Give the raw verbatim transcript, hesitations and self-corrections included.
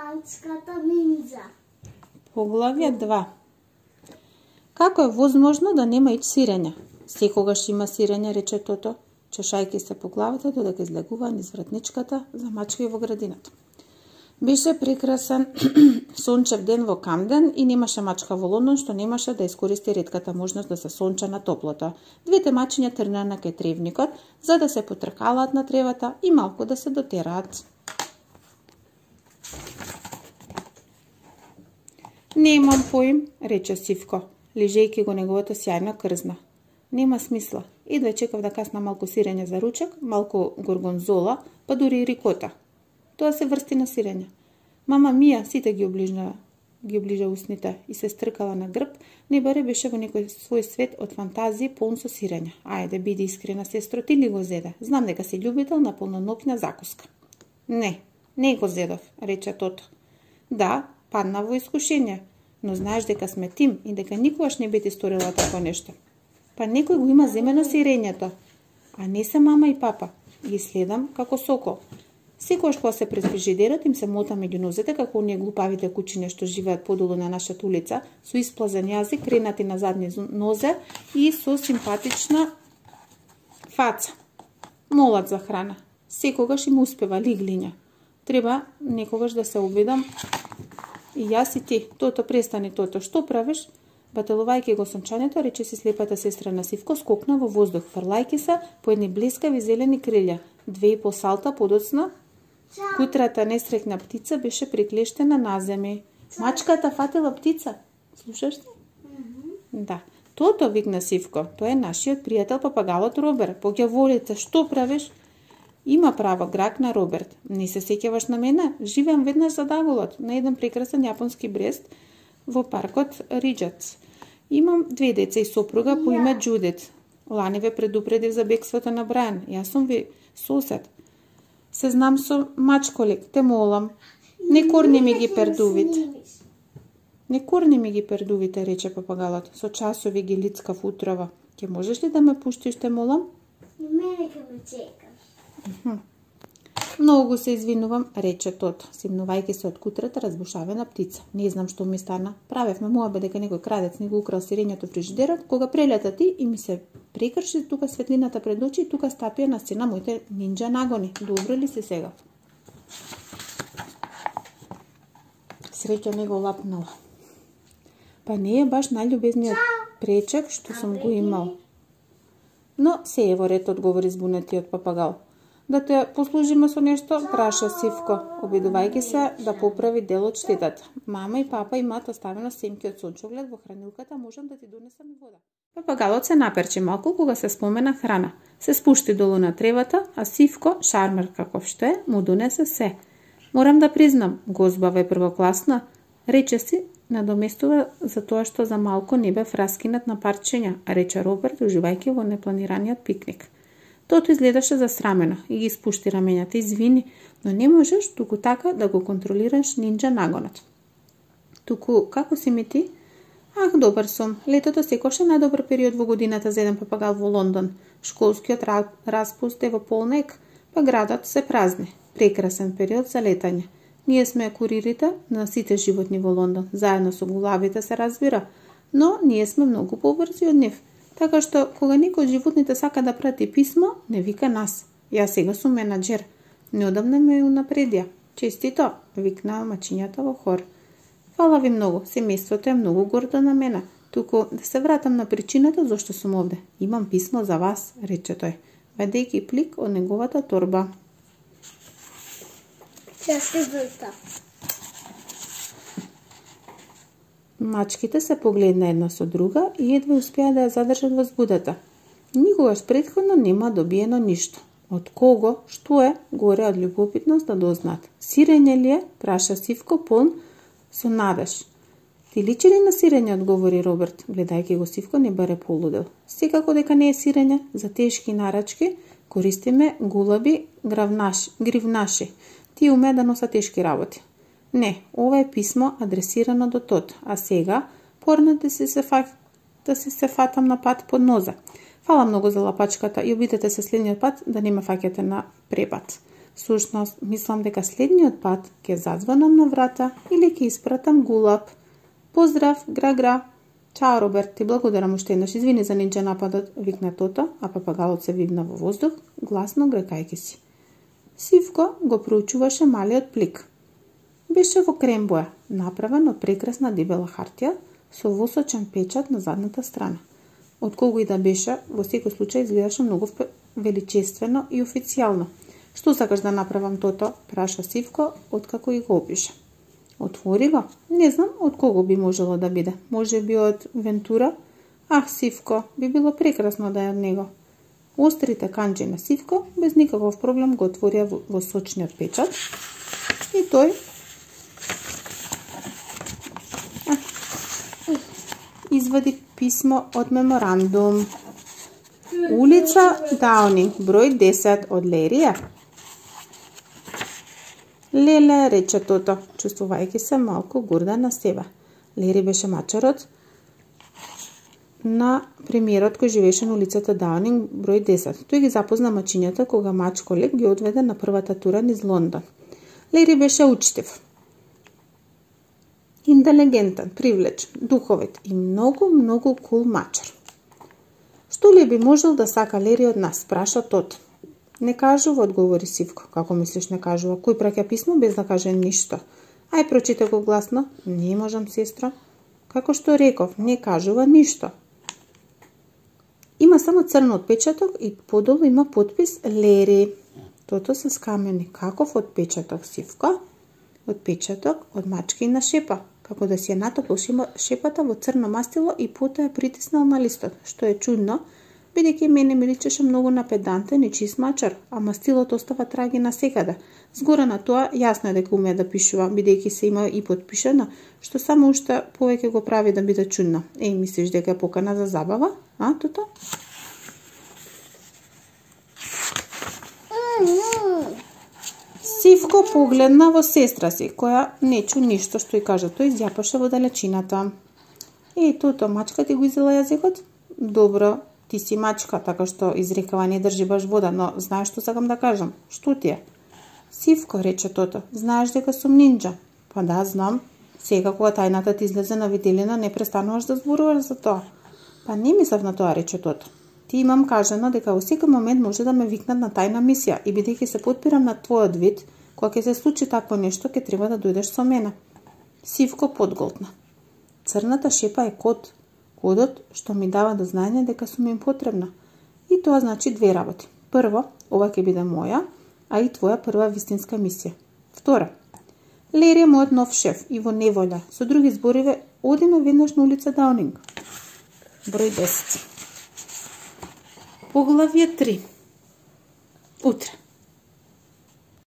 Мачката нинџа. Поглавје два. Како е возможно да нема ич сирење? Секогаш има сирење, рече Тото, чешајќи се по главата додека излегува низ вратничката за мачки во градината. Беше прекрасен сончев ден во Камден и немаше мачка во Лондон што немаше да искористи ретката можност да се сонча на топлото. Двете мачиња тргнаа на кај тревникот за да се потркалаат на тревата и малку да се дотераат. Немам поим, рече Сивко, лижејќи го неговата сјајна крзна. Нема смисла. Едва чекав да касна малку сирење за ручек, малку горгонзола, па дури и рикота. Тоа се врсти на сирење. Мама Мија сите ги оближна, ги оближа усните и се стркала на грб, не баре беше во некој свој свет од фантазии полн со сирење. Ајде, биди искрена, сестро, ти ли го зеде? Знам дека си љубител на полноноќна закуска. Не, не го зедов, рече Тото. Да, падна во искушение, но знаеш дека сме тим и дека никогаш не би ти сторила такво нешто. Па некој го има земено сирењето, а не се мама и папа. Ги следам како сокол. Секогаш кога се пред фрижидерот им се мота меѓу нозете како оние глупавите кучиња што живеат подолу на нашата улица, со исплазен јазик, кренати на задни нозе и со симпатична фаца. Молат за храна. Секогаш им успева лиглиња. Треба некогаш да се обидам. И јас и ти, Тото, престани, Тото, што правиш? Бателувајќи го сончањето, рече си слепата сестра на Сивко, скокна во воздух, фрлајќи се по едни блескави зелени крилја. Две и по салта подоцна, кутрата несрекна птица беше приклештена на земја. Мачката фатила птица. Слушаш ли? Mm-hmm. Да. Тото, викна Сивко, тоа е нашиот пријател папагалот Роберт. Поѓа волите, што правиш? Има право, гракна Роберт. Не се сеќаваш на мене? Живеам веднаш за Даголот, на еден прекрасен јапонски брест во паркот Риджац. Имам две деца и сопруга по име Џудит. Лани ве предупредив за бегството на Брајан. Јас сум ви сосед. Се знам со мачколик, те молам. Не корни ми ги пердувит. Не корни ми ги пердувите, рече папагалот. Со часови ги лицкав утрова. Ке можеш ли да ме пуштиш, те молам? И мене ке ме чекаш. Многу се извинувам, рече Тото, симнувајќи се од кутрата разбушавена птица. Не знам што ми стана. Правевме муабе дека некој крадец ни го украл сирењето фрижидерот, кога прелета ти и ми се прекрши тука светлината пред очи и тука стапија на сцена моите нинџа нагони. Добро ли си сега? Среќа не го лапнала. Па не е баш најљубезниот пречек што сум го имал. Но се е во ред, одговори збунетиот папагал. Да те послужиме со нешто, праша Сивко, обидувајќи се да поправи дел од штетата. Мама и папа имаат оставено семки од сончоглед во хранилката, можам да ти донесам и вода. Папагалот се наперчи малку кога се спомена храна. Се спушти долу на тревата, а Сивко, шармер каков што е, му донесе се. Морам да признам, гозбава е првокласна, рече си, надоместува за тоа што за малку не бев раскинат на парчења, рече Роберт, уживајќи во непланираниот пикник. Тото изгледаше засрамено и ги спушти раменјата. Извини, но не можеш туку така да го контролираш нинџа нагонот. Туку, како си ми ти? Ах, добар сум. Летото секош е најдобар период во годината за еден папагал во Лондон. Школскиот распуст е во полнек, па градот се празни. Прекрасен период за летање. Ние сме куририте на сите животни во Лондон. Заедно со гулавите се разбира, но ние сме многу побрзи од нив. Така што, кога некој од животните сака да прати писмо, не вика нас. Јас сега сум менаџер. Неодамна ме унапредија. Честито, викнаа мачињата во хор. Фала ви многу, семејството е многу гордо на мене. Туку да се вратам на причината зашто сум овде. Имам писмо за вас, рече тој, вадејќи плик од неговата торба. Ја се врта. Мачките се погледна една со друга и едва успеа да ја задржат возбудата. Никогаш претходно нема добиено ништо. Од кого, што е, горе од љубопитност да дознаат. Сирење ли е? Праша Сивко полн со надеж. Ти личи ли на сирење, одговори Роберт, гледајќи го Сивко не баре полудел. Секако дека не е сирење, за тешки нарачки користиме гулаби гравнаши, гривнаши. Тие умеат да носат тешки работи. Не, ова е писмо адресирано до Тото, а сега порна да се се фак... да се се фатам на пат под ноза. Фала многу за лапачката и обидете се следниот пат да не ме фаќате на препат. Сушност, мислам дека следниот пат ќе зазвонам на врата или ќе испратам гулап. Поздрав, гра-гра. Чао, Роберт, ти благодарам уште еднаш. Извини за нинџа нападот, викна Тото, а папагалот се вивна во воздух, гласно грекајќи си. Сивко го проучуваше малиот плик. Беше во крем боја, направен од прекрасна дебела хартија со восочен печат на задната страна. Од кого и да беше, во секој случај изгледаше многу величествено и официјално. Што сакаш да направам, Тото? Праша Сивко, откако и го опиша. Отвори го? Не знам од кого би можело да биде. Може би од Вентура? Ах, Сивко, би било прекрасно да е од него. Острите канџи на Сивко без никаков проблем го отворија во сочниот печат и тој а, извади писмо од меморандум. Улица Даунинг, број десет, од Лерија. Леле, рече Тото, чувствувајќи се малку горда на себе. Лери беше мачарот на премиерот кој живееше на улицата Даунинг, број десет. Тој ги запозна мачињата кога мач колег ги одведе на првата тура низ Лондон. Лери беше учтив, интелигентен, привлечен, духовит и многу, многу кул мачар. Што ли би можел да сака Лери од нас, праша Тото. Не кажува, одговори Сивко. Како мислиш не кажува? Кој праќа писмо без да каже ништо? Ај, прочита го гласно. Не можам, сестра. Како што реков, не кажува ништо. Има само црн отпечаток и подолу има подпис Лери. Тото се скамени. Каков отпечаток, Сивко? Отпечаток од мачки на шепа. Како да си ја натопил шепата во црно мастило и потоа ја притиснал на листот, што е чудно, бидејќи мене ми личеше многу на педантен и чист мачар, а мастилот остава траги насекаде. Згора на тоа, јасно е дека умее да пишува, бидејќи се има и подпишено, што само уште повеќе го прави да биде чудно. Еј, мислиш дека е покана за забава? А, Тото? Сивко погледна во сестра си, која не чу ништо што и кажа, тој изјапаше во далечината. Еј, Тото, мачка ти го изела јазикот? Добро, ти си мачка, така што изрекава не држи баш вода, но знаеш што сакам да кажам? Што ти е? Сивко, рече Тото, знаеш дека сум нинџа? Па да, знам. Сега кога тајната ти излезе на виделина, не престануваш да зборуваш за тоа. Па не мислев на тоа, рече Тото. Ти имам кажано дека во секој момент може да ме викнат на тајна мисија и бидејќи се подпирам на твојот вид, кога ќе се случи такво нешто, ќе треба да дојдеш со мене. Сивко подголтна. Црната шепа е код. Кодот што ми дава до знаење дека сум им потребна. И тоа значи две работи. Прво, ова ќе биде моја, а и твоја прва вистинска мисија. Втора, Лери е мојот нов шеф и во неволја. Со други збориви, одиме веднаш на улица Даунинг. Број десет. Поглавје три. Утре.